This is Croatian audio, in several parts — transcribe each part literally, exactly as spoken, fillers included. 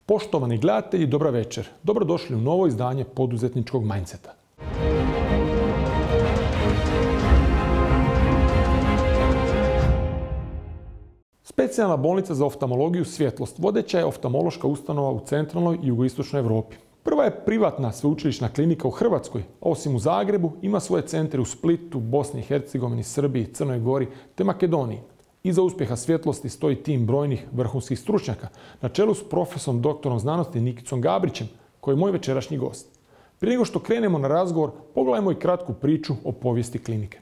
Poštovani gledatelji, dobra večer. Dobrodošli u novo izdanje poduzetničkog mindseta. Specijalna bolnica za oftalmologiju Svjetlost vodeća je oftalmološka ustanova u centralnoj i jugoistočnoj Europi. Prva je privatna sveučilišna klinika u Hrvatskoj, a osim u Zagrebu ima svoje centre u Splitu, Bosni i Hercegovini, Srbiji, Crnoj Gori te Makedoniji. Iza uspjeha Svjetlosti stoji tim brojnih vrhunskih stručnjaka, na čelu s profesorom doktorom znanosti Nikicom Gabrićem, koji je moj večerašnji gost. Prije nego što krenemo na razgovor, pogledajmo i kratku priču o povijesti klinike.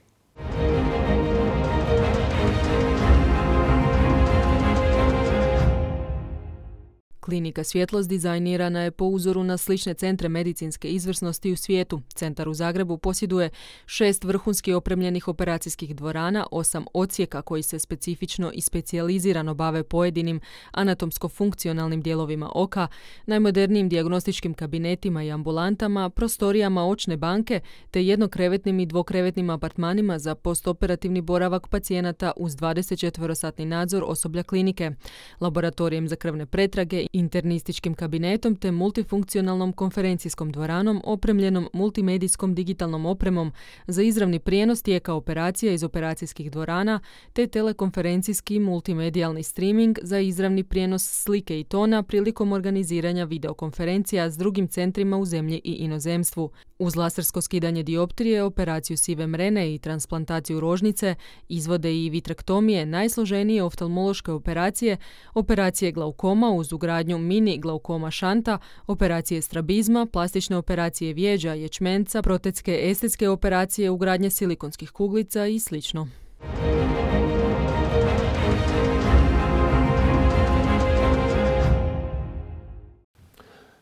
Klinika Svjetlost dizajnirana je po uzoru na slične centre medicinske izvrsnosti u svijetu. Centar u Zagrebu posjeduje šest vrhunski opremljenih operacijskih dvorana, osam odsjeka koji se specifično i specijalizirano bave pojedinim anatomsko-funkcionalnim dijelovima oka, najmodernijim dijagnostičkim kabinetima i ambulantama, prostorijama očne banke te jednokrevetnim i dvokrevetnim apartmanima za postoperativni boravak pacijenata uz dvadesetčetverosatni nadzor osoblja klinike, laboratorijem za krvne pretrage, internističkim kabinetom te multifunkcionalnom konferencijskom dvoranom opremljenom multimedijskom digitalnom opremom za izravni prijenos tijeka operacija iz operacijskih dvorana te telekonferencijski multimedijalni streaming za izravni prijenos slike i tona prilikom organiziranja videokonferencija s drugim centrima u zemlji i inozemstvu. Uz lasersko skidanje dioptrije, operaciju sive mrene i transplantaciju rožnice, izvode i vitrektomije, najsloženije oftalmološke operacije, operacije glaukoma uz ugradnju mini glaukoma šanta, operacije strabizma, plastične operacije vijeđa, ječmenca, protetske estetske operacije, ugradnje silikonskih kuglica i sl.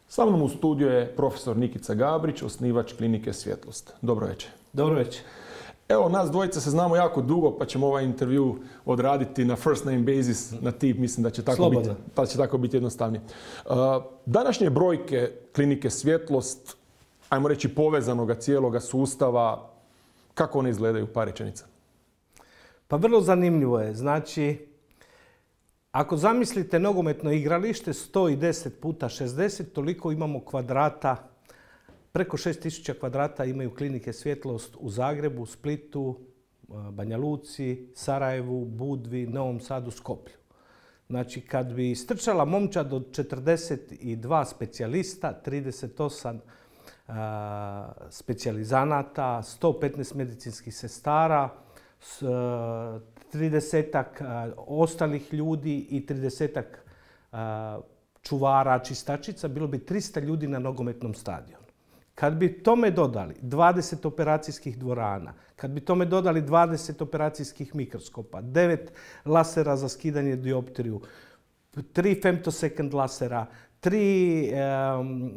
Sa mnom u studiju je profesor Nikica Gabrić, osnivač klinike Svjetlost. Dobro večer. Dobro večer. Evo, nas dvojica se znamo jako dugo, pa ćemo ovaj intervju odraditi na first name basis, na tip, mislim da će tako, biti, da će tako biti jednostavnije. Uh, današnje brojke klinike Svjetlost, ajmo reći povezanoga cijeloga sustava, kako one izgledaju, par rečenica? Pa vrlo zanimljivo je. Znači, ako zamislite nogometno igralište sto deset puta šezdeset, toliko imamo kvadrata. Preko šest tisuća kvadrata imaju klinike Svjetlost u Zagrebu, Splitu, Banja Luci, Sarajevu, Budvi, Novom Sadu, Skoplju. Znači, kad bi strčala momčad od četrdeset dva specijalista, trideset osam a, specijalizanata, sto petnaest medicinskih sestara, s, a, tridesetak a, ostalih ljudi i tridesetak a, čuvara, čistačica, bilo bi trista ljudi na nogometnom stadionu. Kad bi tome dodali dvadeset operacijskih dvorana, kad bi tome dodali dvadeset operacijskih mikroskopa, devet lasera za skidanje dioptriju, tri femtosecond lasera, tri, um,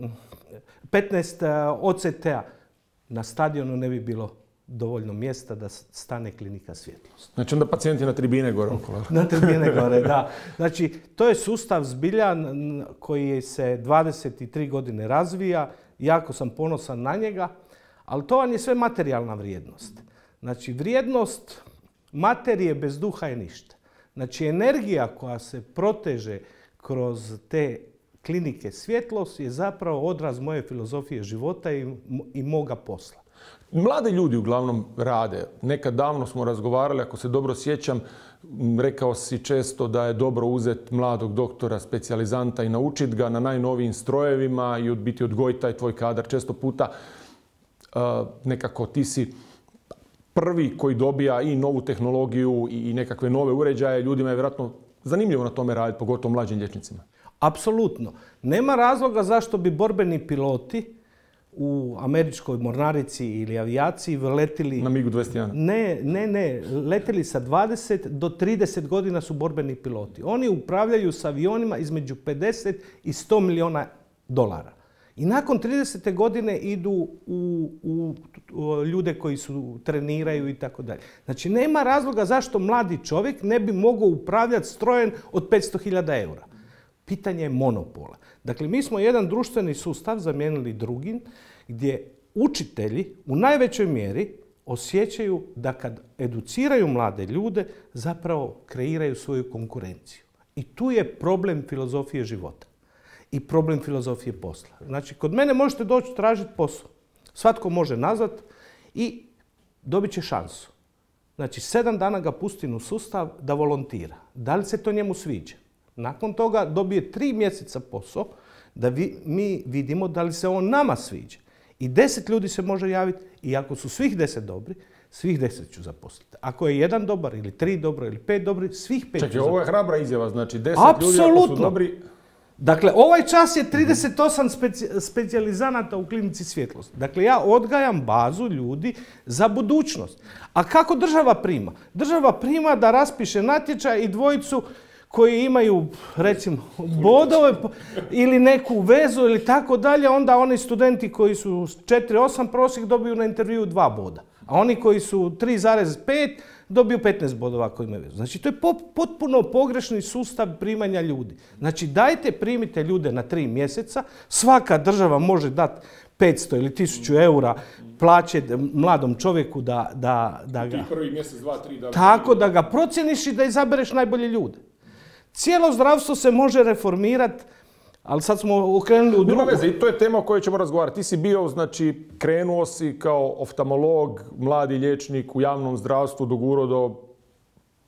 petnaest O C T-a, na stadionu ne bi bilo dovoljno mjesta da stane klinika Svjetlost. Znači onda pacijenti na tribine gore okolo. Na tribine gore, da. Znači, to je sustav zbilja koji se dvadeset tri godine razvija. Jako sam ponosan na njega, ali to vam je sve materijalna vrijednost. Znači, vrijednost materije bez duha je ništa. Znači, energija koja se proteže kroz te klinike Svjetlost je zapravo odraz moje filozofije života i, i moga posla. Mladi ljudi uglavnom rade. Nekad davno smo razgovarali, ako se dobro sjećam, rekao si često da je dobro uzeti mladog doktora, specijalizanta i naučiti ga na najnovijim strojevima i biti odgojiti taj tvoj kadar. Često puta uh, nekako ti si prvi koji dobija i novu tehnologiju i nekakve nove uređaje. Ljudima je vjerojatno zanimljivo na tome raditi, pogotovo mlađim liječnicima. Apsolutno. Nema razloga zašto bi borbeni piloti u američkoj mornarici ili avijaciji letili... Na migu dvadeset jedan? Ne, ne, ne. Letili sa dvadeset do trideset godina su borbeni piloti. Oni upravljaju s avionima između pedeset i sto milijuna dolara. I nakon tridesete godine idu u, u, u ljude koji su treniraju i tako dalje. Znači, nema razloga zašto mladi čovjek ne bi mogao upravljati strojem od petsto hiljada eura. Pitanje je monopola. Dakle, mi smo jedan društveni sustav zamijenili drugim gdje učitelji u najvećoj mjeri osjećaju da kad educiraju mlade ljude zapravo kreiraju svoju konkurenciju. I tu je problem filozofije života. i problem filozofije posla. Znači, kod mene možete doći tražiti posao. Svatko može nazvat i dobit će šansu. Znači, sedam dana ga pustim u sustav da volontira. Da li se to njemu sviđa? Nakon toga dobije tri mjeseca posao da vi, mi vidimo da li se on nama sviđa. I deset ljudi se može javiti i ako su svih deset dobri, svih deset ću zaposliti. Ako je jedan dobar ili tri dobro ili pet dobri, svih pet ću zaposliti. Čekaj, ovo je hrabra izjava, znači deset ljudi ako su dobri... Dakle, ovaj čas je trideset osam speci specijalizanata u klinici svjetlosti. Dakle, ja odgajam bazu ljudi za budućnost. A kako država prima? Država prima da raspiše natječaj i dvojicu koji imaju, recimo, bodove ili neku vezu ili tako dalje, onda oni studenti koji su četiri osam prosjek dobiju na intervju dva boda. A oni koji su tri zarez pet dobiju petnaest bodova ako imaju vezu. Znači, to je potpuno pogrešni sustav primanja ljudi. Znači, dajte primite ljude na tri mjeseca, svaka država može dati petsto ili tisuću eura plaće mladom čovjeku da, da, da ga... Ti prvi mjesec, dva, tri... Da... Tako da ga procjeniš i da izabereš najbolje ljude. Cijelo zdravstvo se može reformirati, ali sad smo okrenuli u drugu... Nema veze, i to je tema o kojoj ćemo razgovarati. Ti si bio, znači, krenuo si kao oftalmolog, mladi liječnik u javnom zdravstvu, dogurao do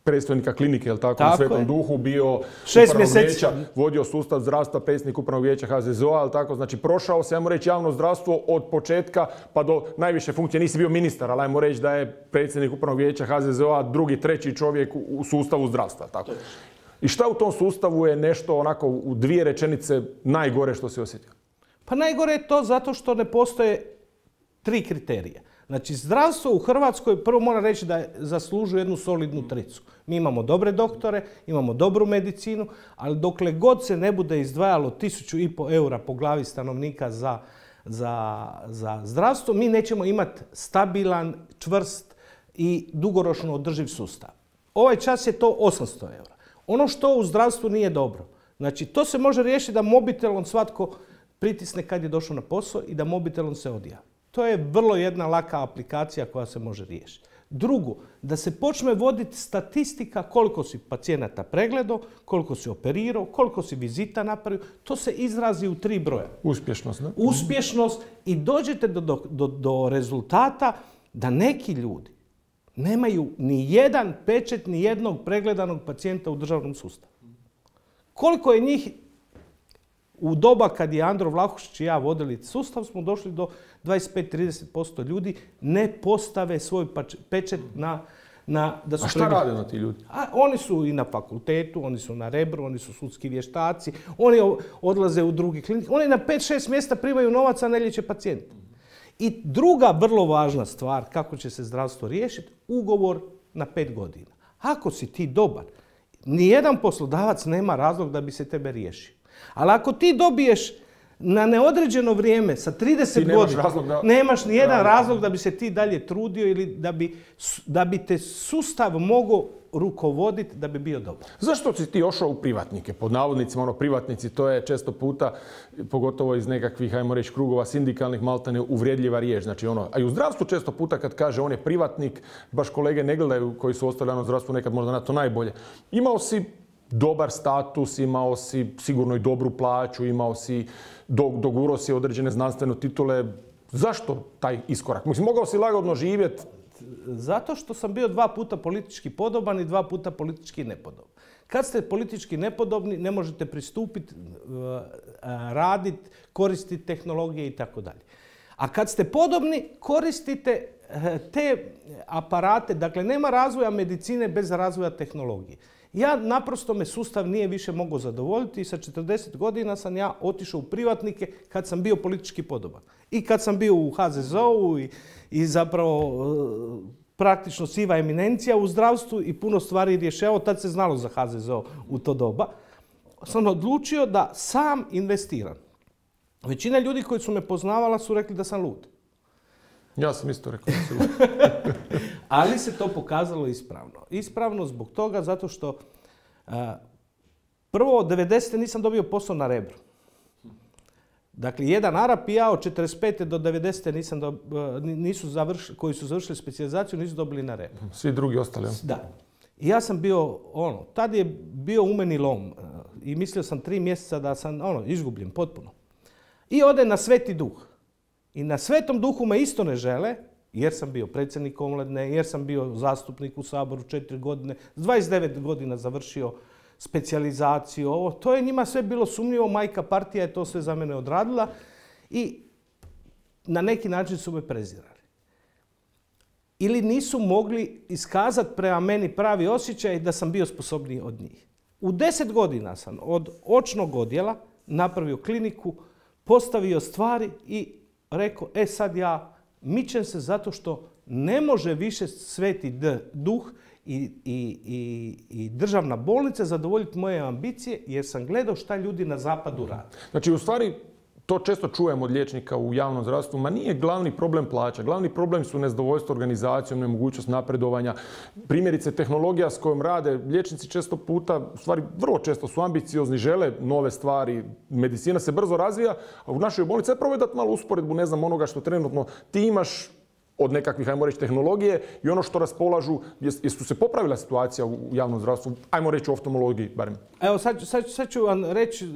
predstojnika klinike, jel tako, tako na Svetom je. Duhu, bio upravnog vijeća, vodio sustav zdravstva, predsjednik upravnog vijeća H Z Z O-a, jel tako, znači prošao se, ajmo reći, javno zdravstvo od početka pa do najviše funkcije. Nisi bio ministar, ali ajmo reći da je predsjednik upravnog vijeća H Z Z O-a drugi, treći čovjek u sustavu zdravstva, tako. I šta u tom sustavu je nešto onako u dvije rečenice najgore što si osjetio? Pa najgore je to zato što ne postoje tri kriterija. Znači, zdravstvo u Hrvatskoj, prvo moram reći da zaslužuje jednu solidnu tricu. Mi imamo dobre doktore, imamo dobru medicinu, ali dokle god se ne bude izdvajalo tisuću i pol eura po glavi stanovnika za, za, za zdravstvo, mi nećemo imati stabilan, čvrst i dugoročno održiv sustav. Ovaj čas je to osamsto eura. Ono što u zdravstvu nije dobro. Znači, to se može riješiti da mobitelom svatko pritisne kad je došao na posao i da mobitelom se odjavi. To je vrlo jedna laka aplikacija koja se može riješiti. Drugo, da se počne voditi statistika koliko si pacijenata pregledao, koliko si operirao, koliko si vizita napravio. To se izrazi u tri broja. Uspješnost, ne? Uspješnost i dođete do, do, do, do rezultata da neki ljudi nemaju ni jedan pečet, ni jednog pregledanog pacijenta u državnom sustavu. Koliko je njih u doba kad je Andro Vlahušić i ja vodili sustav, smo došli do dvadeset pet do trideset posto ljudi ne postave svoj pečet na... na da su A šta pregled... rade na ti ljudi? A, oni su i na fakultetu, oni su na Rebru, oni su sudski vještaci, oni odlaze u drugi klinik, oni na pet šest mjesta primaju novac, a ne liječe pacijente. I druga vrlo važna stvar kako će se zdravstvo riješiti, ugovor na pet godina. Ako si ti dobar, nijedan poslodavac nema razlog da bi se tebe riješio. Ali ako ti dobiješ na neodređeno vrijeme sa trideset godina, da... nemaš nijedan razlog da bi se ti dalje trudio ili da bi, da bi te sustav mogao rukovoditi da bi bio dobar. Zašto si ti ošao u privatnike? Pod navodnicima, ono, privatnici, to je često puta, pogotovo iz nekakvih, ajmo reći, krugova sindikalnih, maltene uvrijedljiva riječ. Znači, ono, a i u zdravstvu često puta kad kaže on je privatnik, baš kolege ne gledaju koji su ostali u zdravstvu nekad možda na to najbolje. Imao si dobar status, imao si sigurno i dobru plaću, imao si, dogurao si određene znanstvene titule. Zašto taj iskorak? Mislim, mogao si lagodno živjeti. Zato što sam bio dva puta politički podoban i dva puta politički nepodoban. Kad ste politički nepodobni, ne možete pristupiti, raditi, koristiti tehnologije i tako dalje. A kad ste podobni, koristite te aparate. Dakle, nema razvoja medicine bez razvoja tehnologije. Ja naprosto me sustav nije više mogao zadovoljiti i sa četrdeset godina sam ja otišao u privatnike kad sam bio politički podoban. I kad sam bio u H Z Z O-u i, i zapravo praktično siva eminencija u zdravstvu i puno stvari rješavao, tad se znalo za H Z Z O u to doba, sam odlučio da sam investiram. Većina ljudi koji su me poznavala su rekli da sam lud. Ja sam isto rekao da sam lud. Ali se to pokazalo ispravno. Ispravno zbog toga zato što uh, prvo od devedesete nisam dobio posao na Rebru. Dakle, jedan Arap i ja od četrdeset pete do devedesete nisam do, uh, nisu završili, koji su završili specijalizaciju nisu dobili na Rebru. Svi drugi ostali. Da. I ja sam bio, ono, tad je bio u meni lom. i mislio sam tri mjeseca da sam ono, izgubljen potpuno. I ode na Sveti Duh. I na Svetom Duhu me isto ne žele, jer sam bio predsjednik omladine, jer sam bio zastupnik u Saboru četiri godine, s dvadeset devet godina završio specijalizaciju, ovo. To je njima sve bilo sumnjivo, majka partija je to sve za mene odradila i na neki način su me prezirali. Ili nisu mogli iskazati prema meni pravi osjećaj da sam bio sposobniji od njih. U deset godina sam od očnog odjela napravio kliniku, postavio stvari i rekao, e sad ja mičem se zato što ne može više Sveti Duh i, i, i, i državna bolnica zadovoljiti moje ambicije jer sam gledao šta ljudi na zapadu rade. Znači, u stvari, to često čujemo od liječnika u javnom zdravstvu, ma nije glavni problem plaća. Glavni problem su nezadovoljstvo organizacijom, nemogućnost napredovanja. Primjerice, tehnologija s kojom rade liječnici često puta, u stvari vrlo često su ambiciozni, žele nove stvari, medicina se brzo razvija, a u našoj bolnici je probaj dati malo usporedbu, ne znam, onoga što trenutno ti imaš od nekakvih, ajmo reći, tehnologije i ono što raspolažu, jesu se popravila situacija u javnom zdravstvu, ajmo reći u oftalmologiji barem? Evo, sad, sad, sad, ću vam reći,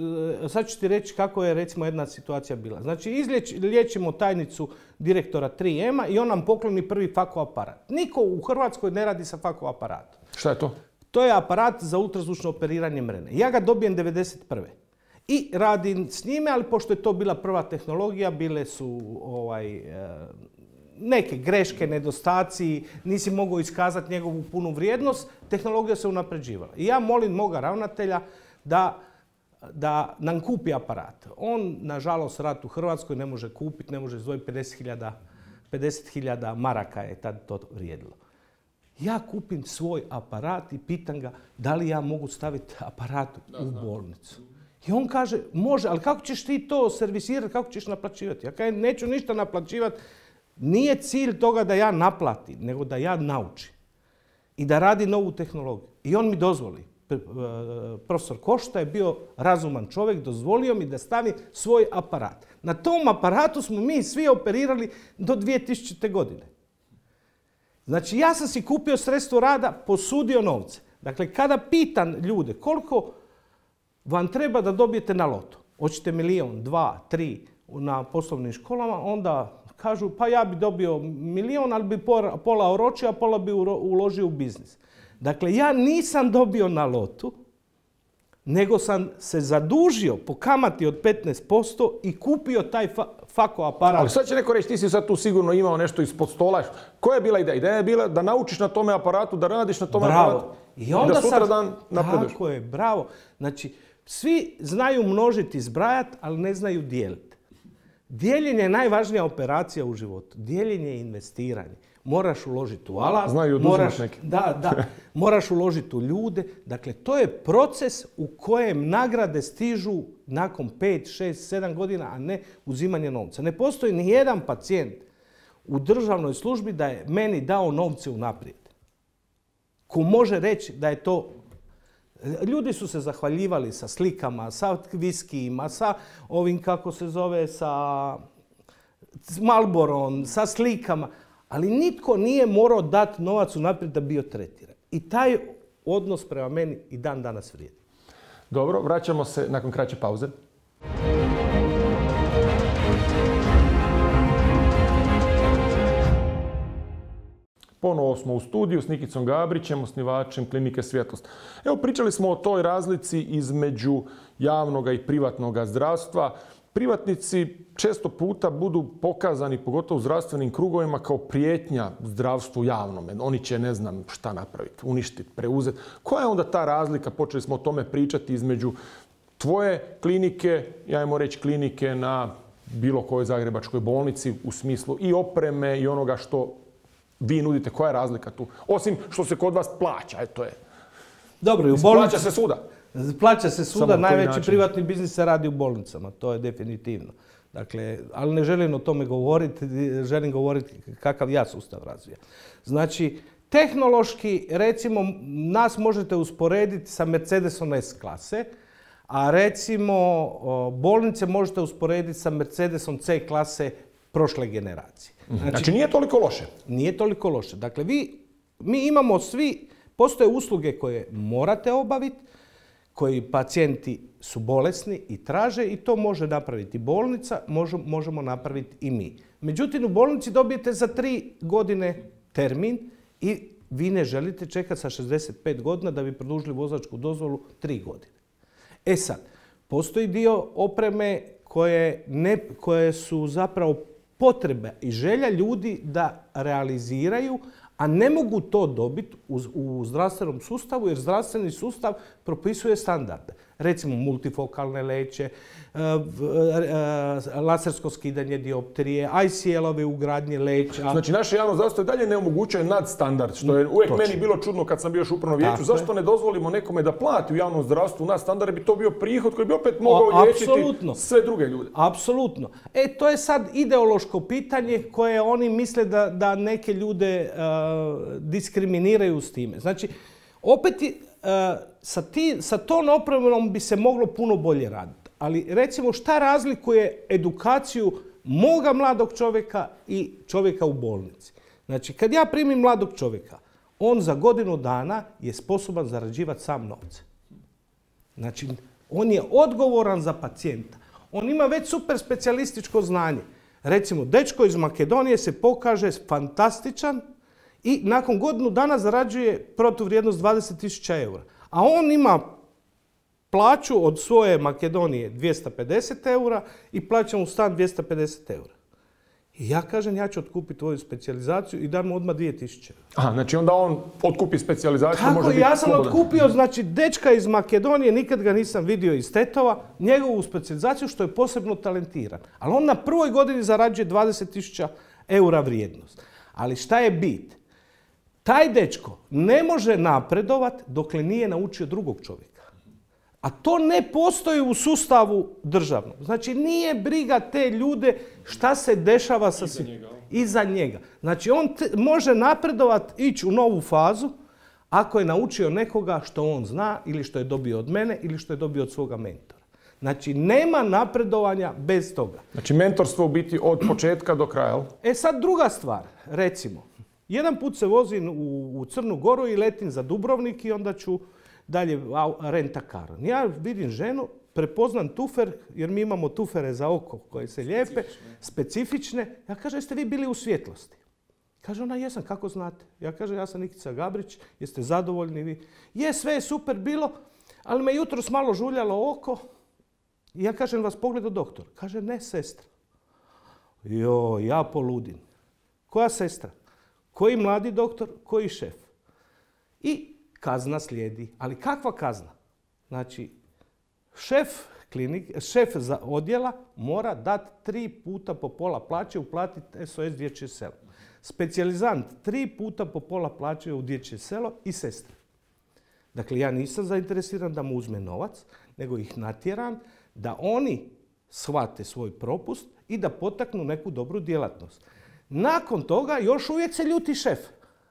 sad ću ti reći kako je recimo jedna situacija bila. Znači, izliječimo tajnicu direktora tri ema i on nam pokloni prvi fako aparat. Niko u Hrvatskoj ne radi sa fako aparatom. Šta je to? To je aparat za ultrazvučno operiranje mrene. Ja ga dobijem devedeset prve. I radim s njime, ali pošto je to bila prva tehnologija, bile su ovaj, e, neke greške, nedostaci, nisi mogao iskazati njegovu punu vrijednost, tehnologija se unapređivala. I ja molim moga ravnatelja da, da nam kupi aparat. On, nažalost, rat u Hrvatskoj ne može kupiti, ne može izdvojiti pedeset hiljada maraka je tad to vrijedilo. Ja kupim svoj aparat i pitam ga da li ja mogu staviti aparat u bolnicu. I on kaže, može, ali kako ćeš ti to servisirati, kako ćeš naplaćivati? Ja kažem, neću ništa naplaćivati. Nije cilj toga da ja naplatim, nego da ja naučim i da radi novu tehnologiju. I on mi dozvoli. Profesor Košta je bio razuman čovjek, dozvolio mi da stavim svoj aparat. Na tom aparatu smo mi svi operirali do dvije tisućite. godine. Znači, ja sam si kupio sredstvo rada, posudio novce. Dakle, kada pitam ljude koliko vam treba da dobijete na lotu, hoćete milijon, dva, tri na poslovnim školama, onda kažu, pa ja bi dobio milijon, ali bi pola oročio, a pola bi uložio u biznis. Dakle, ja nisam dobio na lotu, nego sam se zadužio po kamati od petnaest posto i kupio taj fa fako aparat. Ali sad će neko reći, ti si sad tu sigurno imao nešto ispod stola. Koja je bila ideja? Ideja je bila da naučiš na tome aparatu, da radiš na tome bravo. aparatu. I onda da sutra sam, dan napreduješ. Tako je, bravo. Znači, svi znaju množiti i zbrajati, ali ne znaju dijeliti. Dijeljenje je najvažnija operacija u životu. Dijeljenje je investiranje. Moraš uložiti u alat, znaju moraš, neki. da, da, moraš uložiti u ljude. Dakle, to je proces u kojem nagrade stižu nakon pet, šest, sedam godina, a ne uzimanje novca. Ne postoji ni jedan pacijent u državnoj službi da je meni dao novce unaprijed. Ko može reći da je to... Ljudi su se zahvaljivali sa slikama, sa viskijima, sa ovim, kako se zove, sa Marlborom, sa slikama, ali nitko nije morao dati novac unaprijed da bio tretiran. I taj odnos prema meni i dan danas vrijedi. Dobro, vraćamo se nakon kraće pauze. Ponovo smo u studiju s Nikicom Gabrićem, osnivačem Klinike Svjetlost. Evo, pričali smo o toj razlici između javnog i privatnog zdravstva. Privatnici često puta budu pokazani, pogotovo u zdravstvenim krugovima, kao prijetnja zdravstvu javnome. Oni će ne znam šta napraviti, uništiti, preuzeti. Koja je onda ta razlika, počeli smo o tome pričati, između tvoje klinike, ajmo reći klinike na bilo kojoj zagrebačkoj bolnici, u smislu i opreme i onoga što vi nudite? Koja je razlika tu? Osim što se kod vas plaća, eto je. Dobro, i u bolnici... Plaća se svuda. Plaća se svuda, najveći privatni biznis se radi u bolnicama, to je definitivno. Dakle, ali ne želim o tome govoriti, želim govoriti kakav ja sustav razvija. Znači, tehnološki, recimo, nas možete usporediti sa Mercedesom S klase, a recimo bolnice možete usporediti sa Mercedesom C klase prošle generacije. Znači, znači nije toliko loše? Nije toliko loše. Dakle, vi, mi imamo svi, postoje usluge koje morate obaviti, koji pacijenti su bolesni i traže i to može napraviti bolnica, možemo napraviti i mi. Međutim, u bolnici dobijete za tri godine termin i vi ne želite čekati sa šezdeset pet godina da bi produžili vozačku dozvolu tri godine. E sad, postoji dio opreme koje, ne, koje su zapravo potrebe i želja ljudi da realiziraju, a ne mogu to dobiti u, u zdravstvenom sustavu jer zdravstveni sustav propisuje standarde. Recimo multifokalne leće, lasersko skidanje dioptrije, I C L-ove ugradnje leća. Znači naše javno zdravstvo i dalje ne omogućuje nadstandard, što je uvijek Točno. meni bilo čudno kad sam bio još u upravnom vijeću. Zašto ne dozvolimo nekome da plati u javnom zdravstvu nadstandard, bi to bio prihod koji bi opet mogao liječiti sve druge ljude. Apsolutno. E, to je sad ideološko pitanje koje oni misle da, da neke ljude uh, diskriminiraju s time. Znači, opet Uh, sa, ti, sa tom opremom bi se moglo puno bolje raditi. Ali recimo šta razlikuje edukaciju moga mladog čovjeka i čovjeka u bolnici? Znači kad ja primim mladog čovjeka, on za godinu dana je sposoban zarađivati sam novce. Znači on je odgovoran za pacijenta. On ima već super specijalističko znanje. Recimo dečko iz Makedonije se pokaže fantastičan i nakon godinu dana zarađuje protuvrijednost dvadeset tisuća eura. A on ima plaću od svoje Makedonije dvjesto pedeset eura i plaća mu stan dvjesto pedeset eura. I ja kažem, ja ću otkupiti tvoju specijalizaciju i dam mu odmah dvije tisuće eura. Aha, znači onda on otkupi specijalizaciju. Kako? Može biti ja sam slobodan. otkupio, znači, dečka iz Makedonije, nikad ga nisam vidio iz Tetova, njegovu specijalizaciju što je posebno talentiran. Ali on na prvoj godini zarađuje dvadeset tisuća eura vrijednost. Ali šta je bit? Taj dečko ne može napredovat dokle nije naučio drugog čovjeka. A to ne postoji u sustavu državnom. Znači nije briga te ljude šta se dešava sa iza njega. Iza njega. Znači on te, može napredovat, ići u novu fazu ako je naučio nekoga što on zna ili što je dobio od mene ili što je dobio od svoga mentora. Znači nema napredovanja bez toga. Znači mentorstvo u biti od početka do kraja. E sad druga stvar, recimo. Jedan put se vozim u, u Crnu Goru i letim za Dubrovnik i onda ću dalje renta kar. Ja vidim ženu, prepoznam tufer, jer mi imamo tufere za oko koje se lijepe, specifične. specifične. Ja kažem, jeste vi bili u svjetlosti? Kaže ona, jesam, kako znate? Ja kažem, ja sam Nikica Gabrić, jeste zadovoljni vi? Je, sve je super bilo, ali me jutros malo žuljalo oko. I ja kažem, vas pogledao doktor. Kaže, ne, sestra. Jo, ja poludim. Koja sestra? Koji mladi doktor, koji šef. I kazna slijedi. Ali kakva kazna? Znači, šef, klinik, šef za odjela mora dati tri puta po pola plaće uplatiti S O S dječje selo. Specijalizant tri puta po pola plaće u dječje selo i sestre. Dakle, ja nisam zainteresiran da mu uzme novac, nego ih natjeram da oni shvate svoj propust i da potaknu neku dobru djelatnost. Nakon toga još uvijek se ljuti šef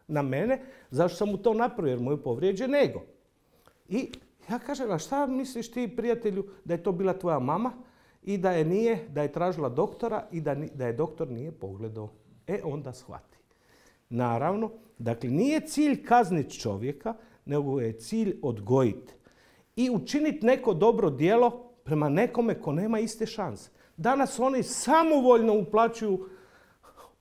na mene, zašto sam mu to napravio, jer mu je povrijeđen ego. I ja kažem, a šta misliš ti, prijatelju, da je to bila tvoja mama i da je nije, da je tražila doktora i da, da je doktor nije pogledao. E, onda shvati. Naravno, dakle, nije cilj kazniti čovjeka, nego je cilj odgojiti. I učiniti neko dobro djelo prema nekome ko nema iste šanse. Danas oni samovoljno uplaćuju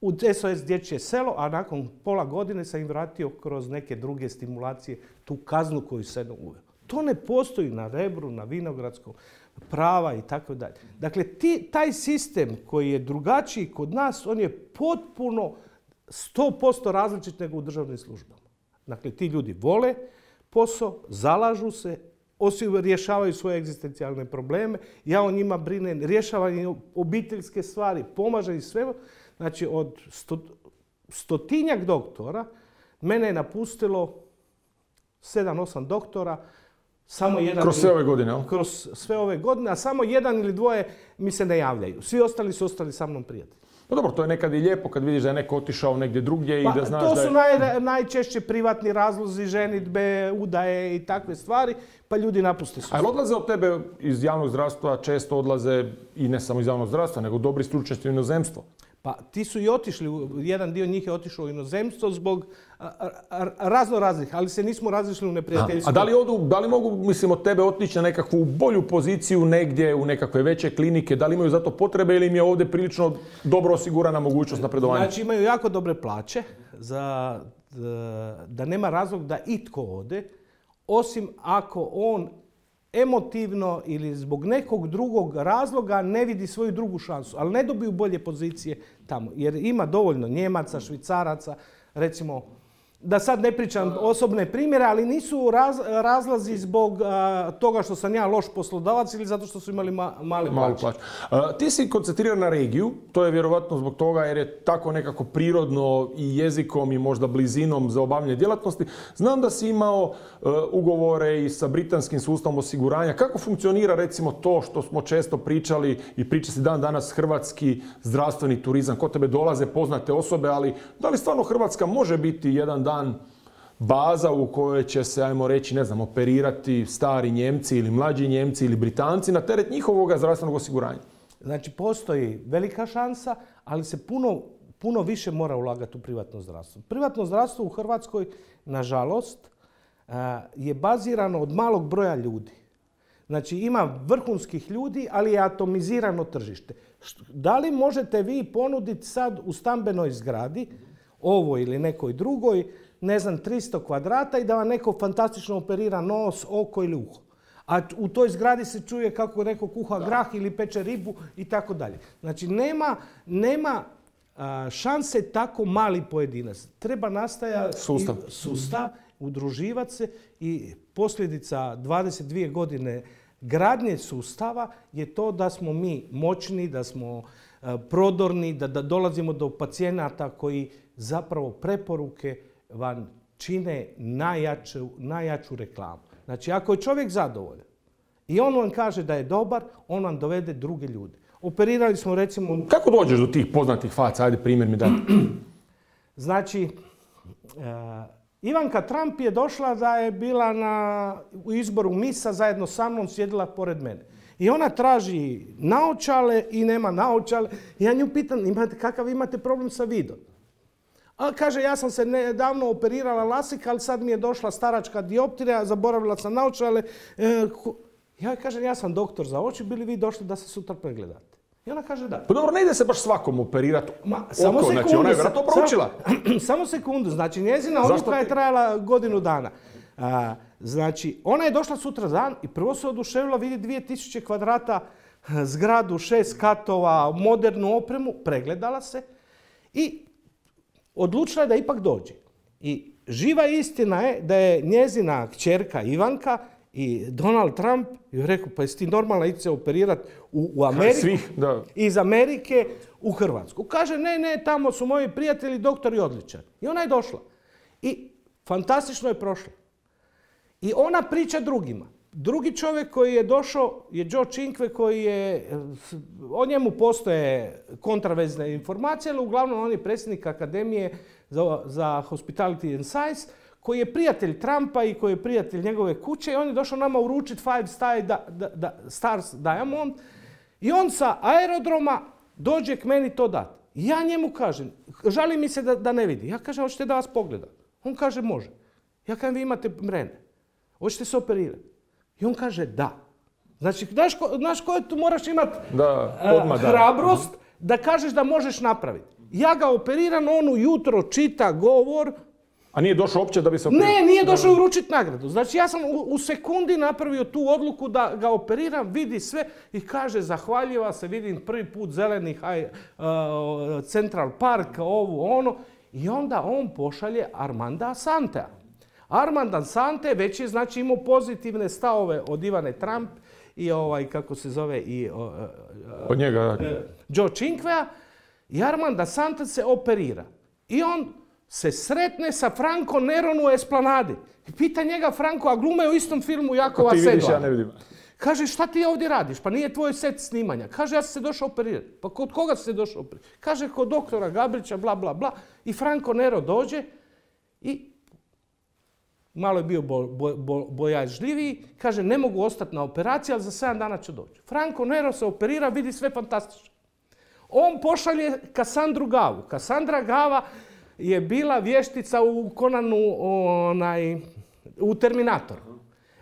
u S O S dječje selo, a nakon pola godine sam im vratio kroz neke druge stimulacije tu kaznu koju sam uveo. To ne postoji na Rebru, na Vinogradskom, prava i tako dalje. Dakle, ti, taj sistem koji je drugačiji kod nas, on je potpuno sto posto različit nego u državnim službama. Dakle, ti ljudi vole posao, zalažu se, osim rješavaju svoje egzistencijalne probleme, ja o njima brinem, rješavaju obiteljske stvari, pomažem i sve. Znači, od sto, stotinjak doktora, mene je napustilo sedam, osam doktora, samo jedan... Kroz sve ove godine, ali? Kroz sve ove godine, a samo jedan ili dvoje mi se ne javljaju. Svi ostali su ostali sa mnom prijatelji. No dobro, to je nekad i lijepo kad vidiš da je neko otišao negdje drugdje pa, i da znaš da je... To su je... naj, najčešće privatni razlozi, ženidbe, udaje i takve stvari, pa ljudi napuste su. Ali odlaze od tebe iz javnog zdravstva, često odlaze i ne samo iz javnog zdravstva, nego dobri stručnjaci u inozemstvo. Pa ti su i otišli, jedan dio njih je otišao u inozemstvo zbog razno raznih, ali se nismo razišli u neprijateljstvu. A da li, odu, da li mogu, mislim, od tebe otići na nekakvu bolju poziciju negdje, u nekakve veće klinike? Da li imaju za to potrebe ili im je ovdje prilično dobro osigurana mogućnost napredovanja? Znači imaju jako dobre plaće, za, da nema razlog da itko ode, osim ako on emotivno ili zbog nekog drugog razloga ne vidi svoju drugu šansu, ali ne dobiju bolje pozicije tamo. Jer ima dovoljno Njemaca, Švicaraca, recimo, da sad ne pričam osobne primjere, ali nisu raz, razlazi zbog a, toga što sam ja loš poslodavac ili zato što su imali ma, male plaće. plaće. A, ti si koncentriran na regiju, to je vjerovatno zbog toga jer je tako nekako prirodno i jezikom i možda blizinom za obavljanje djelatnosti. Znam da si imao uh, ugovore i sa britanskim sustavom osiguranja. Kako funkcionira recimo to što smo često pričali i priča se dan danas hrvatski zdravstveni turizam? Kod tebe dolaze poznate osobe, ali da li stvarno Hrvatska može biti jedan dan baza u kojoj će se, ajmo reći, ne znam, operirati stari Njemci ili mlađi Njemci ili Britanci na teret njihovog zdravstvenog osiguranja? Znači, postoji velika šansa, ali se puno, puno više mora ulagati u privatno zdravstvo. Privatno zdravstvo u Hrvatskoj, nažalost, je bazirano od malog broja ljudi. Znači, ima vrhunskih ljudi, ali je atomizirano tržište. Da li možete vi ponuditi sad u stambenoj zgradi, ovoj ili nekoj drugoj, ne znam, tristo kvadrata i da vam neko fantastično operira nos, oko ili uho. A u toj zgradi se čuje kako neko kuha grah ili peče ribu i tako dalje. Znači, nema, nema a, šanse tako mali pojedinac. Treba nastajati sustav. sustav, udruživati se i posljedica dvadeset dvije godine gradnje sustava je to da smo mi moćni, da smo a, prodorni, da, da dolazimo do pacijenata koji zapravo preporuke vam čine najjaču, najjaču reklamu. Znači, ako je čovjek zadovoljan i on vam kaže da je dobar, on vam dovede druge ljude. Operirali smo recimo... Kako dođeš do tih poznatih faca? Ajde, primjer mi daj. Znači, uh, Ivanka Trump je došla da je bila na, u izboru misa zajedno sa mnom, sjedila pored mene. I ona traži naočale i nema naočale. Ja nju pitam, imate, kakav imate problem sa vidom? A kaže, ja sam se nedavno operirala lasik, ali sad mi je došla staračka dioptrija, zaboravila sam naočale. E, ja kažem, ja sam doktor za oči, bili vi došli da se sutra pregledate? I ona kaže da. Pa dobro, ne ide se baš svakom operirati oko, samo sekundu, znači ona je vjerojatno proučila. Samo, samo sekundu, znači njezina odluka je trajala godinu dana. A, znači, ona je došla sutra dan i prvo se oduševila, vidi dvije tisuće kvadrata zgradu, šest katova, modernu opremu, pregledala se i odlučila je da ipak dođe. I živa istina je da je njezina kćerka Ivanka i Donald Trump joj rekao, pa jesi ti normalna ići se operirati u, u Ameriku, Svih, da. iz Amerike u Hrvatsku. Kaže, ne, ne, tamo su moji prijatelji, doktori odličan. I ona je došla. I fantastično je prošla. I ona priča drugima. Drugi čovjek koji je došao je Joe Cinque, koji je, o njemu postoje kontravezne informacije, ali uglavnom on je predsjednik Akademije za, za Hospitality and Science, koji je prijatelj Trumpa i koji je prijatelj njegove kuće i on je došao nama uručiti Five Star da, da, da, Stars Diamond i on sa aerodroma dođe k meni to dati. Ja njemu kažem, žali mi se da, da ne vidi. Ja kažem, hoćete da vas pogledam? On kaže, može. Ja kažem, vi imate mrene. Hoćete se operirati? I on kaže, da. Znači, znaš, ko, znaš koje tu moraš imati uh, hrabrost da kažeš da možeš napraviti. Ja ga operiram, on ujutro čita govor. A nije došao uopće da bi se operirao? Ne, nije došao uručiti nagradu. Znači, ja sam u, u sekundi napravio tu odluku da ga operiram, vidi sve i kaže, zahvaljiva se, vidim prvi put zeleni high, uh, Central Park, ovo, ono. I onda on pošalje Armanda Asantea. Armand Asante već je, znači, imao pozitivne stavove od Ivane Trump i ovaj, kako se zove, i uh, od njega, uh, Joe Cinquea. I Armand Asante se operira. I on se sretne sa Franco Neron u Esplanadi. I pita njega Franco, a glume u istom filmu Jakova Sedla. Ti vidiš, ja ne vidim. Kaže, šta ti ovdje radiš? Pa nije tvoj set snimanja. Kaže, ja sam se došao operirati. Pa kod koga si se došao operirati? Kaže, kod doktora Gabrića, bla, bla, bla. I Franco Nero dođe i malo je bio bo, bo, bo, bojažljiviji. Kaže, ne mogu ostati na operaciji, ali za sedam dana ću doći. Franco Nero se operira, vidi sve fantastično. On pošalje Kassandru Gavu. Kassandra Gava je bila vještica u Conanu, onaj, u Terminatoru.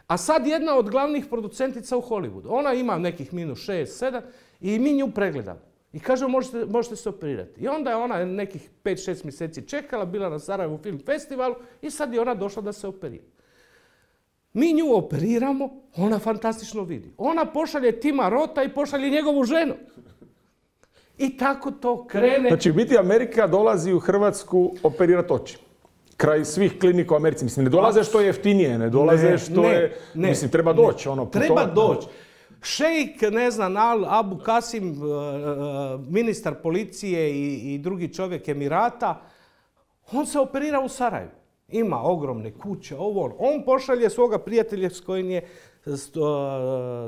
A sad jedna od glavnih producentica u Hollywoodu. Ona ima nekih minus šest, sedam i mi nju pregledamo. I kaže, možete, možete se operirati. I onda je ona nekih pet šest mjeseci čekala, bila na Sarajevu film festivalu i sad je ona došla da se operira. Mi nju operiramo, ona fantastično vidi. Ona pošalje Tima Rota i pošalje njegovu ženu. I tako to krene. Znači, u biti Amerika dolazi u Hrvatsku operirati oči. Kraj svih klinika u Americi. Mislim, ne dolaze što je jeftinije, ne dolaze ne, što ne, je... Ne, mislim, treba doći. Ono, treba doći. Šejk, ne znam, Al Abu Kasim, ministar policije i, i drugi čovjek Emirata, on se operira u Sarajevu. Ima ogromne kuće, ovo. On pošalje svoga prijatelja s kojim je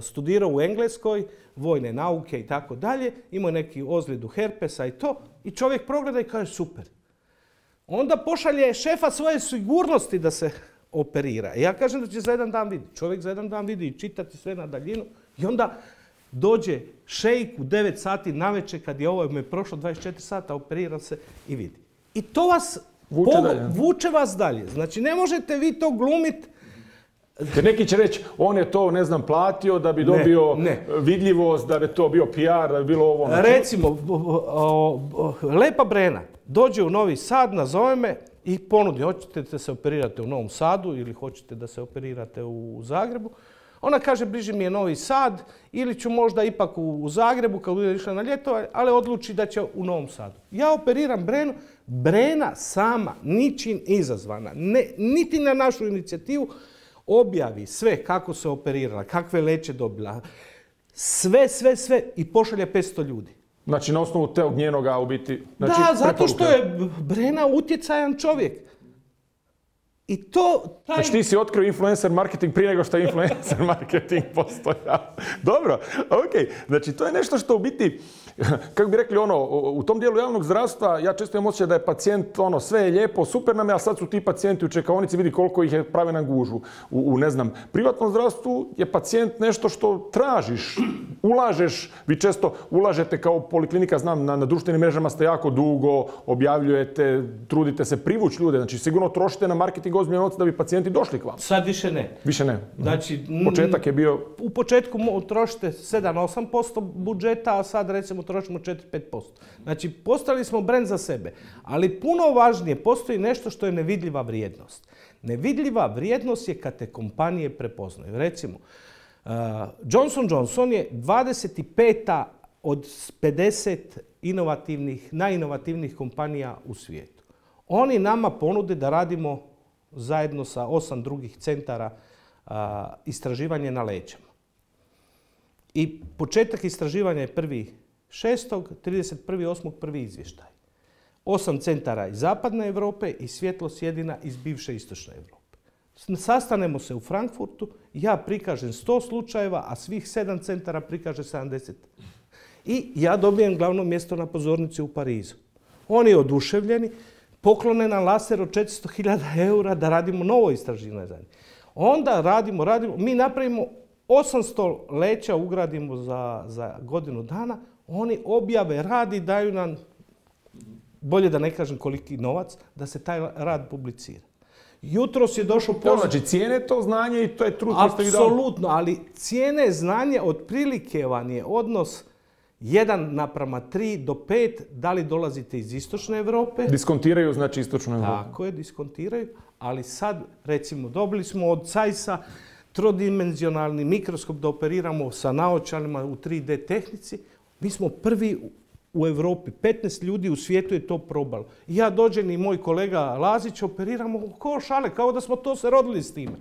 studirao u Engleskoj, vojne nauke i tako dalje. Imao neki ozljedu herpesa i to. I čovjek progleda i kaže super. Onda pošalje šefa svoje sigurnosti da se operira. I ja kažem da će za jedan dan vidjeti. Čovjek za jedan dan vidi i čitati sve na daljinu. I onda dođe šejk u devet sati navečer kad je ovo me prošlo dvadeset četiri sata, operira se i vidi. I to vas vuče, pogo, dalje. vuče vas dalje. Znači ne možete vi to glumiti. Jer neki će reći, on je to, ne znam, platio da bi dobio ne, ne. vidljivost, da bi to bio P R, da bi bilo ovo. Znači... Recimo, Lepa Brena dođe u Novi Sad, nazove me i ponudi, hoćete da se operirate u Novom Sadu ili hoćete da se operirate u Zagrebu. Ona kaže, bliže mi je Novi Sad ili ću možda ipak u Zagrebu kad bude išla na ljeto, ali odluči da će u Novom Sadu. Ja operiram Brenu, Brena sama, ničim izazvana, ne, niti na našu inicijativu, objavi sve kako se operirala, kakve leće dobila, sve, sve, sve i pošalje petsto ljudi. Znači na osnovu tog njenoga u biti... Znači, da, zato što je Brena utjecajan čovjek. I to... Taj... Znači ti si otkrio influencer marketing prije nego što je influencer marketing postojao. Dobro, ok. Znači to je nešto što u biti, kako bi rekli ono, u tom dijelu javnog zdravstva ja često imam osjećaj da je pacijent ono, sve je lijepo, super nam je, a sad su ti pacijenti u čekaonici, vidi koliko ih je prave na gužvu. U, u ne znam, privatnom zdravstvu je pacijent nešto što tražiš, ulažeš, vi često ulažete kao poliklinika, znam, na, na društvenim mrežama ste jako dugo, objavljujete, trudite se privući ljude, znači sigurno trošite na marketing ozbiljne novce da bi pacijenti došli k vam. Sad više ne. Više ne. Znači, početak je bio... U početku trošite sedam do osam posto budžeta, a sad recimo trošimo četiri do pet posto. Znači, postali smo brend za sebe. Ali puno važnije, postoji nešto što je nevidljiva vrijednost. Nevidljiva vrijednost je kad te kompanije prepoznaju. Recimo, uh, Johnson and Johnson je dvadeset peta od pedeset inovativnih, najinovativnijih kompanija u svijetu. Oni nama ponude da radimo zajedno sa osam drugih centara a, istraživanje na leđama. I početak istraživanja je prvi šestog, trideset prvog osmog prvi izvještaj. Osam centara iz zapadne Europe i Svjetlost jedina iz bivše istočne Europe. Sastanemo se u Frankfurtu, ja prikažem sto slučajeva, a svih sedam centara prikaže sedamdeset. I ja dobijem glavno mjesto na pozornici u Parizu. Oni oduševljeni, poklone nam laser od četiristo hiljada eura da radimo novo istraživanje. Onda radimo, radimo, mi napravimo osamsto leća, ugradimo za, za godinu dana, oni objave rad i daju nam, bolje da ne kažem koliki novac, da se taj rad publicira. Jutros je došao poziv... Znači cijene to znanje i to je trud koji ste vi dali. Apsolutno, ali cijene znanje otprilike vam je odnos jedan naprama tri do pet, da li dolazite iz istočne Europe. Diskontiraju znači istočnu Europu. Tako je, diskontiraju, ali sad recimo dobili smo od cajsa trodimenzionalni mikroskop da operiramo sa naočalima u tri D tehnici. Mi smo prvi u Europi, petnaest ljudi u svijetu je to probalo. Ja dođem i moj kolega Lazić operiramo ko šale, kao da smo to se rodili s time.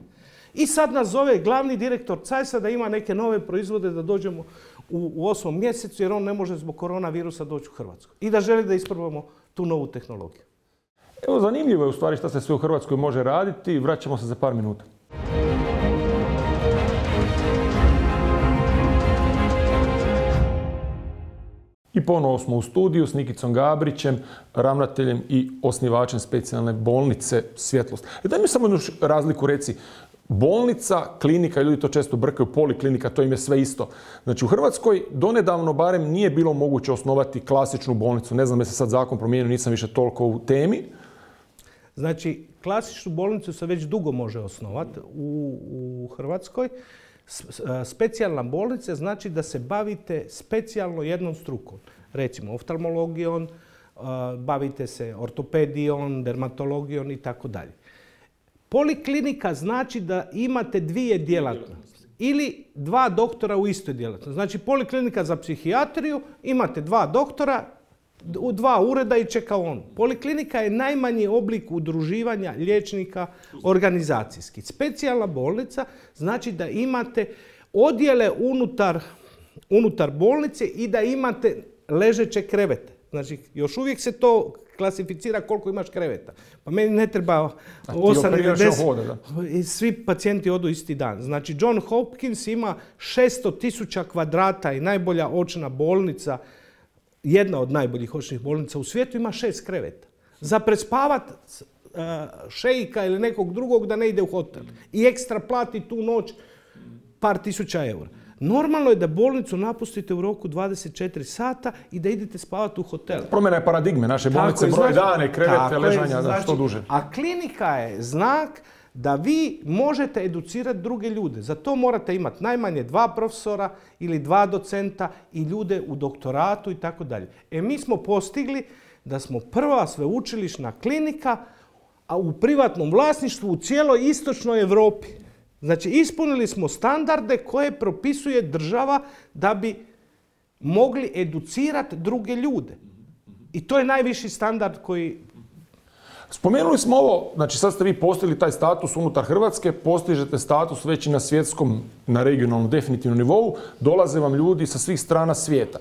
I sad nas zove glavni direktor cajsa da ima neke nove proizvode da dođemo u, u osmom mjesecu jer on ne može zbog koronavirusa doći u Hrvatsku. I da želi da isprobamo tu novu tehnologiju. Evo, zanimljivo je u stvari što se sve u Hrvatskoj može raditi. Vraćamo se za par minuta. I ponovo smo u studiju s Nikicom Gabrićem, ravnateljem i osnivačem specijalne bolnice Svjetlost. E, daj mi samo jednu razliku reci. bolnica, klinika, ljudi to često brkaju, poliklinika, to im je sve isto. Znači u Hrvatskoj donedavno barem nije bilo moguće osnovati klasičnu bolnicu. Ne znam je se sad zakon promijenio, nisam više toliko u temi. Znači, klasičnu bolnicu se već dugo može osnovati u, u Hrvatskoj. Specijalna bolnica znači da se bavite specijalno jednom strukom. Recimo oftalmologijom, bavite se ortopedijom, dermatologijom i tako dalje. Poliklinika znači da imate dvije djelatnosti ili dva doktora u istoj djelatnosti. Znači poliklinika za psihijatriju, imate dva doktora u dva ureda i čeka on. Poliklinika je najmanji oblik udruživanja liječnika organizacijski. Specijalna bolnica znači da imate odjele unutar, unutar bolnice i da imate ležeće krevete. Znači, još uvijek se to klasificira koliko imaš kreveta. Pa meni ne treba osam ili deset. I svi pacijenti odu isti dan. Znači, John Hopkins ima šesto tisuća kvadrata i najbolja očna bolnica, jedna od najboljih očnih bolnica u svijetu, ima šest kreveta. Za prespavat uh, šejika ili nekog drugog da ne ide u hotel. I ekstra plati tu noć par tisuća eura. Normalno je da bolnicu napustite u roku dvadeset četiri sata i da idete spavati u hotel. Promjena je paradigme. Naše bolnice je, broj znači, dane, krevete, ležanja, je, znači, što duže. A klinika je znak da vi možete educirati druge ljude. Za to morate imati najmanje dva profesora ili dva docenta i ljude u doktoratu i tako dalje. E mi smo postigli da smo prva sveučilišna klinika a u privatnom vlasništvu u cijeloj istočnoj Europi. Znači, ispunili smo standarde koje propisuje država da bi mogli educirati druge ljude. I to je najviši standard koji... Spomenuli smo ovo, znači sad ste vi postigli taj status unutar Hrvatske, postižete status već i na svjetskom, na regionalnom, definitivnom nivou, dolaze vam ljudi sa svih strana svijeta.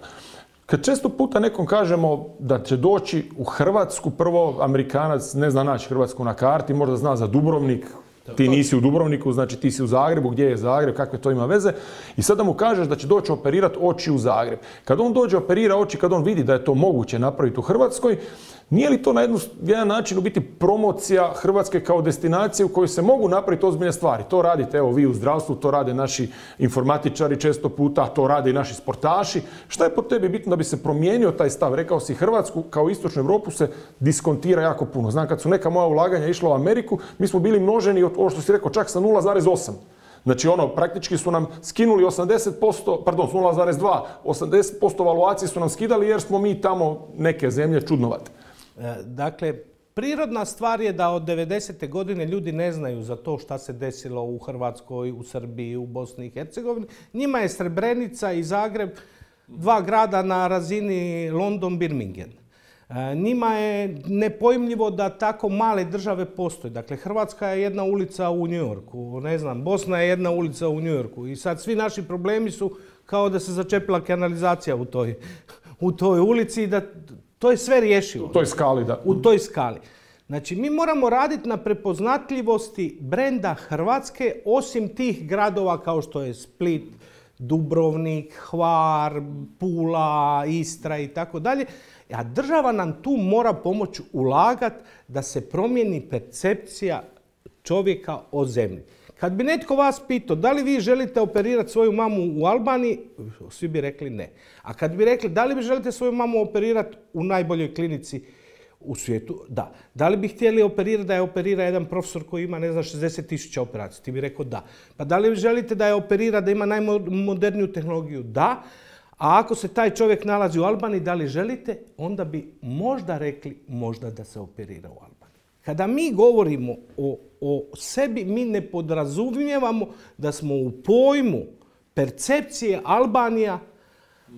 Kad često puta nekom kažemo da će doći u Hrvatsku, prvo Amerikanac ne zna naći Hrvatsku na karti, možda zna za Dubrovnik, ti nisi u Dubrovniku, znači ti si u Zagrebu, gdje je Zagreb, kakve to ima veze. I sada mu kažeš da će doći operirati oči u Zagreb. Kad on dođe operira oči, kad on vidi da je to moguće napraviti u Hrvatskoj, nije li to na jednu, jedan način u biti promocija Hrvatske kao destinacije u kojoj se mogu napraviti ozbiljne stvari? To radite, evo vi u zdravstvu, to rade naši informatičari često puta, to rade i naši sportaši. Šta je po tebi bitno da bi se promijenio taj stav? Rekao si, Hrvatsku kao istočnu Europu se diskontira jako puno. Znam, kad su neka moja ulaganja išla u Ameriku, mi smo bili množeni, ovo što si rekao, čak sa nula zarez osam. Znači ono, praktički su nam skinuli osamdeset posto, pardon, nula zarez dva, osamdeset posto valuacije su nam skidali jer smo mi tamo neke zemlje čudnovate. Dakle, prirodna stvar je da od devedesete godine ljudi ne znaju za to šta se desilo u Hrvatskoj, u Srbiji, u Bosni i Hercegovini. Njima je Srebrenica i Zagreb dva grada na razini London-Birmingham. Njima je nepojmljivo da tako male države postoje. Dakle, Hrvatska je jedna ulica u New Yorku, ne znam, Bosna je jedna ulica u New Yorku. I sad svi naši problemi su kao da se začepila kanalizacija u toj, u toj ulici i da to je sve rješivo. U toj skali, da. U toj skali. Znači, mi moramo raditi na prepoznatljivosti brenda Hrvatske, osim tih gradova kao što je Split, Dubrovnik, Hvar, Pula, Istra i tako dalje. A država nam tu mora pomoći ulagati da se promijeni percepcija čovjeka o zemlji. Kad bi netko vas pitao da li vi želite operirati svoju mamu u Albaniji, svi bi rekli ne. A kad bi rekli da li vi želite svoju mamu operirati u najboljoj klinici u svijetu, da. Da li bi htjeli operirati da je operira jedan profesor koji ima, ne znam, šezdeset tisuća operacija? Ti bi rekao da. Pa da li vi želite da je operira, da ima najmoderniju tehnologiju? Da. A ako se taj čovjek nalazi u Albaniji, da li želite? Onda bi možda rekli možda da se operira u Albaniji. Kada mi govorimo o, o sebi, mi ne podrazumijevamo da smo u pojmu percepcije Albanija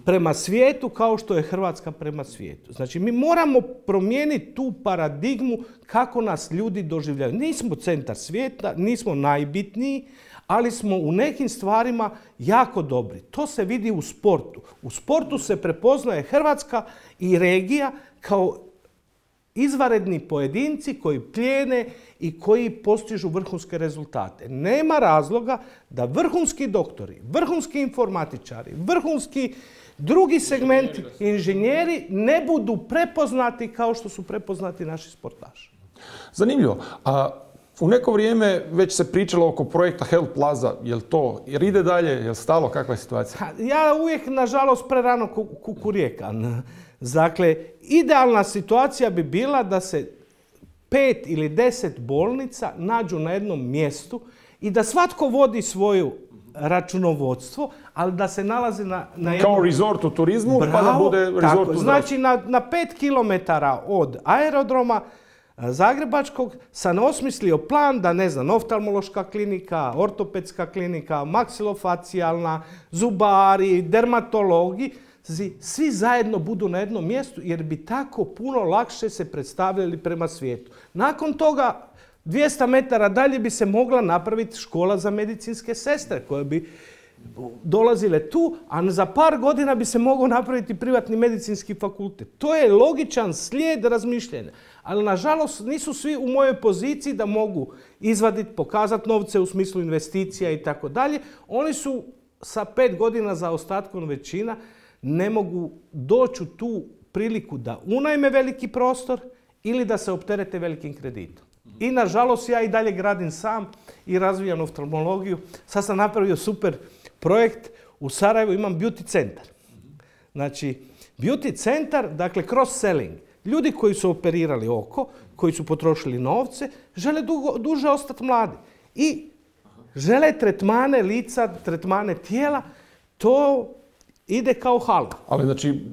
prema svijetu kao što je Hrvatska prema svijetu. Znači, mi moramo promijeniti tu paradigmu kako nas ljudi doživljavaju. Nismo centar svijeta, nismo najbitniji, ali smo u nekim stvarima jako dobri. To se vidi u sportu. U sportu se prepoznaje Hrvatska i regija kao izvanredni pojedinci koji plijene i koji postižu vrhunske rezultate. Nema razloga da vrhunski doktori, vrhunski informatičari, vrhunski drugi segmenti, inženjeri ne budu prepoznati kao što su prepoznati naši sportaši. Zanimljivo. A U neko vrijeme već se pričalo oko projekta Health Plaza. Je li to, jer ide dalje, je li stalo, kakva je situacija? Ja uvijek, nažalost, prerano kukurijekam. Dakle, idealna situacija bi bila da se pet ili deset bolnica nađu na jednom mjestu i da svatko vodi svoju računovodstvo, ali da se nalazi na, na jednom... Kao resort u turizmu, Bravo, pa da bude resort tako, u zdravstvu. Znači, na, na pet kilometara od aerodroma Zagrebačkog sam osmislio plan da, ne znam, oftalmološka klinika, ortopedska klinika, maksilofacijalna, zubari, dermatologi, svi zajedno budu na jednom mjestu jer bi tako puno lakše se predstavljali prema svijetu. Nakon toga, dvjesto metara dalje bi se mogla napraviti škola za medicinske sestre koje bi dolazile tu, a za par godina bi se mogao napraviti privatni medicinski fakultet. To je logičan slijed razmišljanja. Ali, nažalost, nisu svi u mojoj poziciji da mogu izvaditi, pokazati novce u smislu investicija i tako dalje. Oni su sa pet godina za ostatkom većina, ne mogu doći u tu priliku da unajme veliki prostor ili da se opterete velikim kreditom. I, nažalost, ja i dalje gradim sam i razvijam oftalmologiju. Sad sam napravio super projekt. U Sarajevu imam beauty centar. Znači, beauty centar, dakle, cross-selling. Ljudi koji su operirali oko, koji su potrošili novce, žele dugo, duže ostati mladi. I žele tretmane lica, tretmane tijela. To ide kao halva. Ali, znači,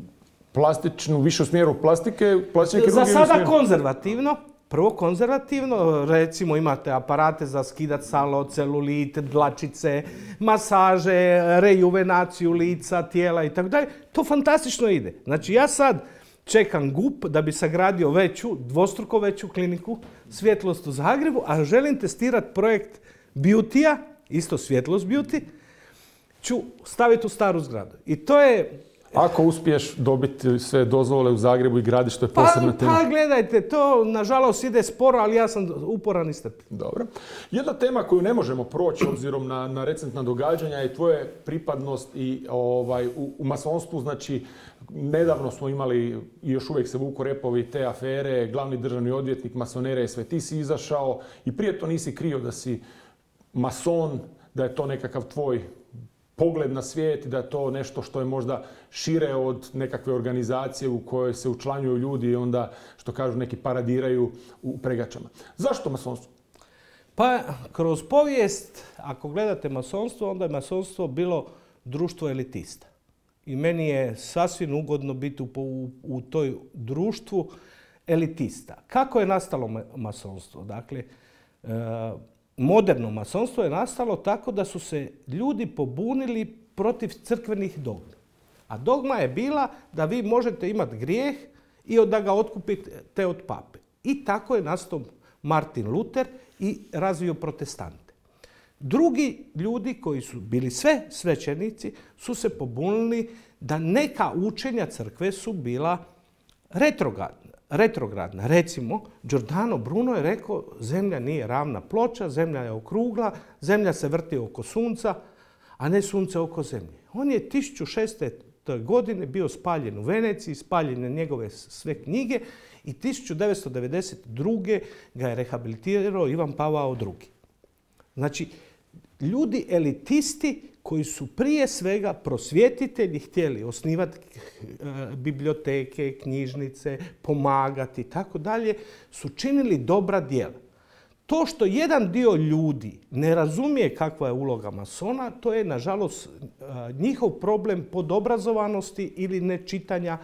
plastičnu, više u smjeru plastike, plastične Za kirurgije... sada konzervativno. Prvo konzervativno, recimo imate aparate za skidat salo, celulit, dlačice, masaže, rejuvenaciju lica, tijela i tako dalje. To fantastično ide. Znači, ja sad čekam G U P da bi sagradio veću, dvostruko veću kliniku Svjetlost u Zagrebu, a želim testirati projekt Beauty-a, isto Svjetlost Beauty, ću staviti u staru zgradu. I to je... Ako uspiješ dobiti sve dozvole u Zagrebu i gradiš, to je posebna pa, tema. Pa gledajte, to nažalost ide sporo, ali ja sam uporan i strpljiv. Dobro. Jedna tema koju ne možemo proći obzirom na, na recentna događanja je tvoja pripadnost i ovaj, u, u masonstvu. Znači, nedavno smo imali i još uvijek se vuku repovi te afere, glavni državni odvjetnik, masonere i sve. Ti si izašao i prije to nisi krio da si mason, da je to nekakav tvoj pogled na svijet i da je to nešto što je možda šire od nekakve organizacije u kojoj se učlanjuju ljudi i onda, što kažu, neki paradiraju u pregačama. Zašto masonstvo? Pa, kroz povijest, ako gledate masonstvo, onda je masonstvo bilo društvo elitista. I meni je sasvim ugodno biti u, u, u toj društvu elitista. Kako je nastalo masonstvo? Dakle, e, moderno masonstvo je nastalo tako da su se ljudi pobunili protiv crkvenih dogmi. A dogma je bila da vi možete imati grijeh i da ga otkupite od pape. I tako je nastao Martin Luther i razvio protestante. Drugi ljudi koji su bili sve svećenici su se pobunili da neka učenja crkve su bila retrogradna. retrogradna. Recimo, Giordano Bruno je rekao zemlja nije ravna ploča, zemlja je okrugla, zemlja se vrti oko sunca, a ne sunce oko zemlje. On je tisuću šeststo godine bio spaljen u Veneciji, spaljene njegove sve knjige i tisuću devetsto devedeset druge ga je rehabilitirao Ivan Pavao drugi. Znači, ljudi elitisti koji su prije svega prosvjetitelji htjeli osnivati biblioteke, knjižnice, pomagati i tako dalje, su činili dobra djela. To što jedan dio ljudi ne razumije kakva je uloga masona, to je, nažalost, njihov problem podobrazovanosti ili nečitanja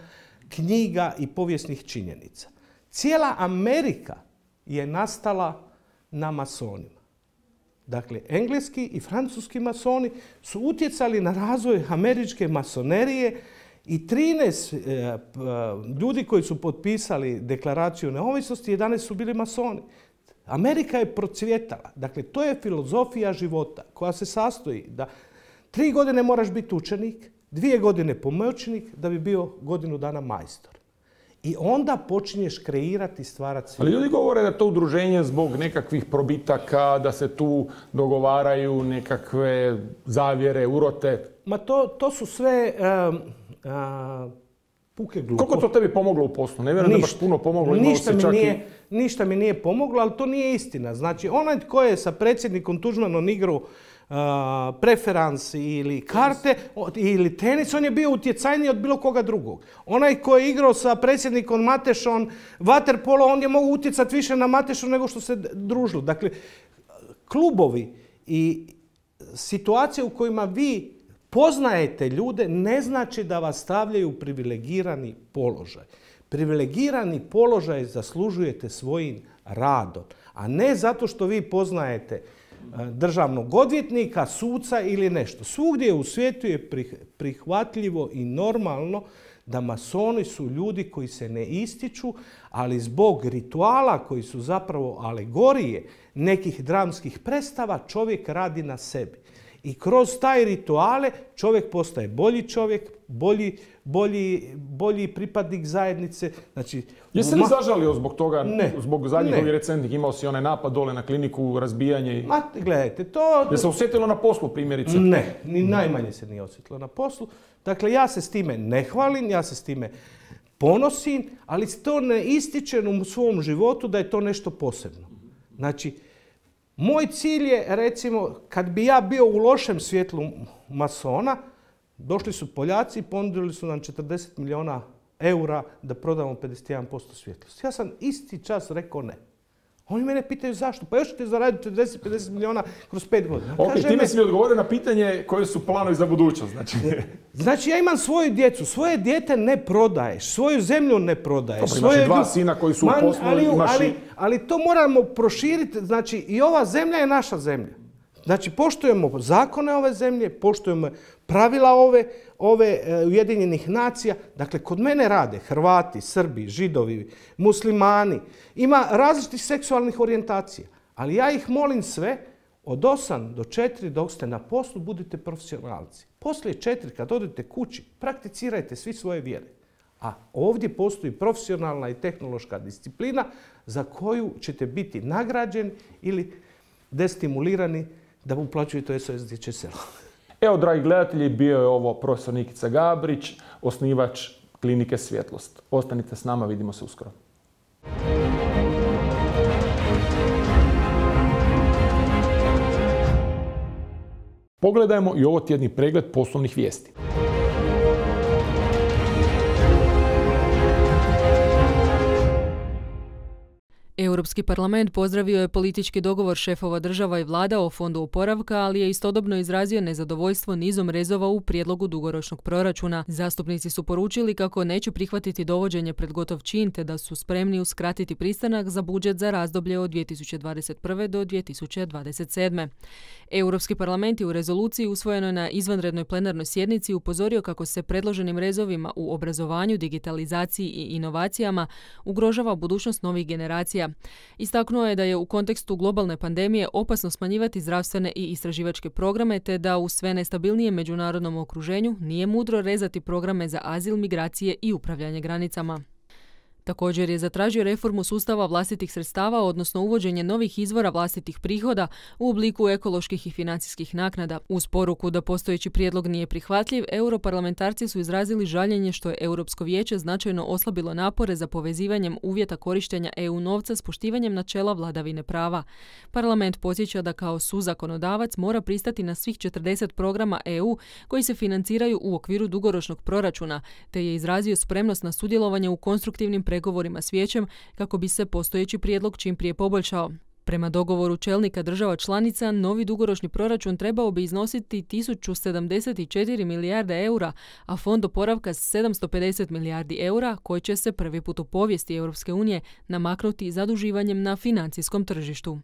knjiga i povijesnih činjenica. Cijela Amerika je nastala na masonima. Dakle, engleski i francuski masoni su utjecali na razvoj američke masonerije i trinaest e, ljudi koji su potpisali deklaraciju neovisnosti, jedanaest su bili masoni. Amerika je procvjetala. Dakle, to je filozofija života koja se sastoji da tri godine moraš biti učenik, dvije godine pomoćnik da bi bio godinu dana majstor. I onda počinješ kreirati i stvarati svijet. Ali ljudi govore da je to udruženje zbog nekakvih probitaka, da se tu dogovaraju nekakve zavjere, urote. Ma to, to su sve uh, uh, puke glupo. Koliko to tebi pomoglo u poslu? Ne vjerujem da baš puno pomoglo. Ništa mi, nije, i... ništa mi nije pomoglo, ali to nije istina. Znači, onaj tko je sa predsjednikom Tuđmanom igrao uh, preferans ili karte ili tenis, on je bio utjecajniji od bilo koga drugog. Onaj ko je igrao sa predsjednikom Matešom vaterpolo, on je mogao utjecati više na Matešu nego što se družilo. Dakle, klubovi i situacije u kojima vi poznajete ljude ne znači da vas stavljaju u privilegirani položaj. Privilegirani položaj zaslužujete svojim radom, a ne zato što vi poznajete državnog odvjetnika, suca ili nešto. Svugdje u svijetu je prihvatljivo i normalno da masoni su ljudi koji se ne ističu, ali zbog rituala koji su zapravo alegorije nekih dramskih predstava čovjek radi na sebi. I kroz taj rituale čovjek postaje bolji čovjek, bolji, bolji, bolji pripadnik zajednice. Znači, jesi li zažalio zbog toga, ne, zbog zadnjih ovih recentnih, imao si onaj napad dole na kliniku, razbijanje? I... Ma, gledajte, to... Je se osjetilo na poslu primjerice? Ne, ni najmanje se nije osjetilo na poslu. Dakle, ja se s time ne hvalim, ja se s time ponosim, ali to ne ističe u svom životu da je to nešto posebno. Znači, moj cilj je, recimo, kad bi ja bio u lošem svjetlu masona, došli su Poljaci i ponudili su nam četrdeset milijuna eura da prodamo pedeset jedan posto svjetlosti. Ja sam isti čas rekao ne. Oni mene pitaju zašto. Pa još ćete zaraditi četrdeset do pedeset milijuna kroz pet godina. Ok, time me... si mi odgovorio na pitanje koje su planovi za budućnost. Znači, znači ja imam svoju djecu. Svoje dijete ne prodaješ. Svoju zemlju ne prodaješ. Dobro, imaš svoje... i dva sina koji su Man, u poslu. Ali, imaš ali, i... ali to moramo proširiti. Znači i ova zemlja je naša zemlja. Znači poštujemo zakone ove zemlje, poštujemo pravila ove, ove uh, Ujedinjenih nacija. Dakle, kod mene rade Hrvati, Srbi, Židovi, Muslimani. Ima različitih seksualnih orijentacija. Ali ja ih molim sve, od osam do četiri dok ste na poslu, budite profesionalci. Poslije četiri, kad odete kući, prakticirajte svi svoje vjere. A ovdje postoji profesionalna i tehnološka disciplina za koju ćete biti nagrađeni ili destimulirani da uplaćujete S O S Dječje selo. Evo, dragi gledatelji, bio je ovo profesor Nikica Gabrić, osnivač klinike Svjetlost. Ostanite s nama, vidimo se uskoro. Pogledajmo i ovo tjedni pregled poslovnih vijesti. Europski parlament pozdravio je politički dogovor šefova država i vlada o fondu oporavka, ali je istodobno izrazio nezadovoljstvo nizom rezova u prijedlogu dugoročnog proračuna. Zastupnici su poručili kako neće prihvatiti dovođenje pred gotov čin, te da su spremni uskratiti pristanak za budžet za razdoblje od dvije tisuće dvadeset prve do dvije tisuće dvadeset sedme. Europski parlament je u rezoluciji usvojenoj na izvanrednoj plenarnoj sjednici upozorio kako se predloženim rezovima u obrazovanju, digitalizaciji i inovacijama ugrožava budućnost novih generacija. Istaknuo je da je u kontekstu globalne pandemije opasno smanjivati zdravstvene i istraživačke programe, te da u sve nestabilnijem međunarodnom okruženju nije mudro rezati programe za azil, migracije i upravljanje granicama. Također je zatražio reformu sustava vlastitih sredstava, odnosno uvođenje novih izvora vlastitih prihoda u obliku ekoloških i financijskih naknada. Uz poruku da postojeći prijedlog nije prihvatljiv, europarlamentarci su izrazili žaljenje što je Europsko vijeće značajno oslabilo napore za povezivanjem uvjeta korištenja E U novca s poštivanjem načela vladavine prava. Parlament podsjeća da kao suzakonodavac mora pristati na svih četrdeset programa E U koji se financiraju u okviru dugoročnog proračuna, te je izrazio spremnost na sudjelovanje u konstruktivnim pregovorima s vijećem kako bi se postojeći prijedlog čim prije poboljšao. Prema dogovoru čelnika država članica, novi dugoročni proračun trebao bi iznositi tisuću sedamdeset četiri milijarde eura, a fond oporavka sedamsto pedeset milijardi eura, koji će se prvi put u povijesti Europske unije namaknuti zaduživanjem na financijskom tržištu.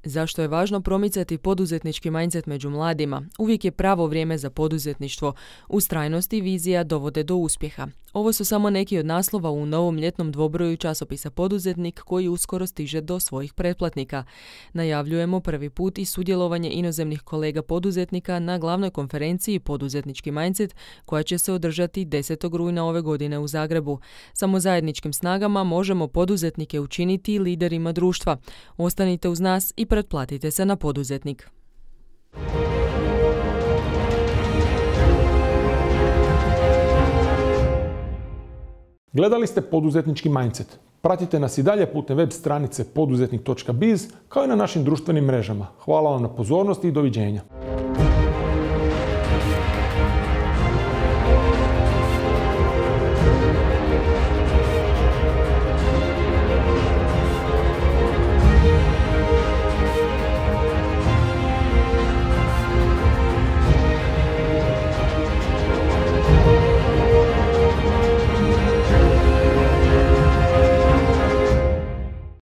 Zašto je važno promicati poduzetnički mindset među mladima? Uvijek je pravo vrijeme za poduzetništvo. Ustrajnost i vizija dovode do uspjeha. Ovo su samo neki od naslova u novom ljetnom dvobroju časopisa Poduzetnik koji uskoro stiže do svojih pretplatnika. Najavljujemo prvi put i sudjelovanje inozemnih kolega poduzetnika na glavnoj konferenciji Poduzetnički mindset koja će se održati desetog rujna ove godine u Zagrebu. Samo zajedničkim snagama možemo poduzetnike učiniti liderima društva. Ostanite uz nas i pretplatite se na Poduzetnik. Gledali ste Poduzetnički mindset. Pratite nas i dalje putem web stranice poduzetnik točka biz kao i na našim društvenim mrežama. Hvala vam na pozornosti i doviđenja.